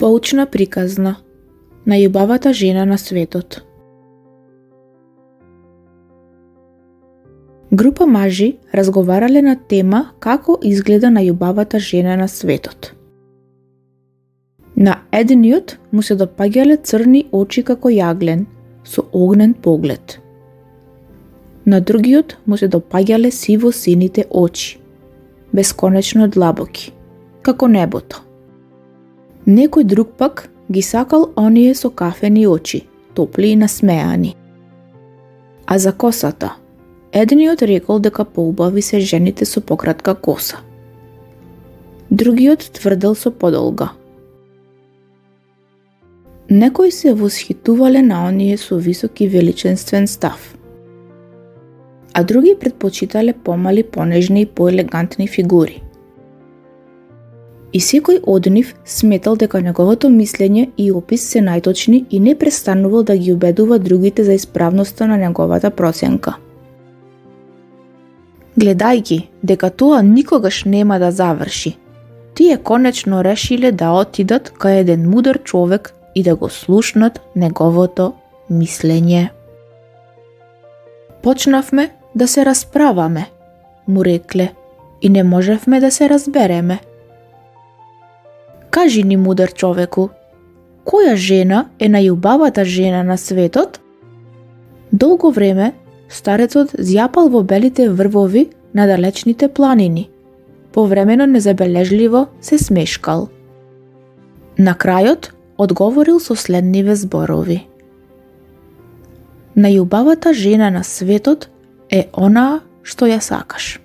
Поучна приказна. Најубавата жена на светот. Група мажи разговарале на тема како изгледа најубавата жена на светот. На едниот му се допаѓале црни очи како јаглен, со огнен поглед. На другиот му се допаѓале сиво-сините очи, бесконечно длабоки, како небото. Некој друг пак ги сакал оние со кафени очи, топли и насмеани. А за косата, едниот рекол дека поубави се жените со пократка коса. Другиот тврдел со подолга. Некои се восхитувале на оние со висок и величенствен став, а други предпочитале помали, понежни и поелегантни фигури. И секој од нив сметал дека неговото мислење и опис се најточни и не престанувал да ги убедува другите за исправноста на неговата проценка. Гледајќи дека тоа никогаш нема да заврши, тие конечно решиле да отидат кај еден мудар човек и да го слушнат неговото мислење. Почнавме да се расправаме, му рекле, и не можевме да се разбереме. Кажи ни, мудар човеку, која жена е најубавата жена на светот? Долго време старецот зјапал во белите врвови на далечните планини. Повремено незабележливо се смешкал. На крајот одговорил со следниве зборови. Најубавата жена на светот е онаа што ја сакаш.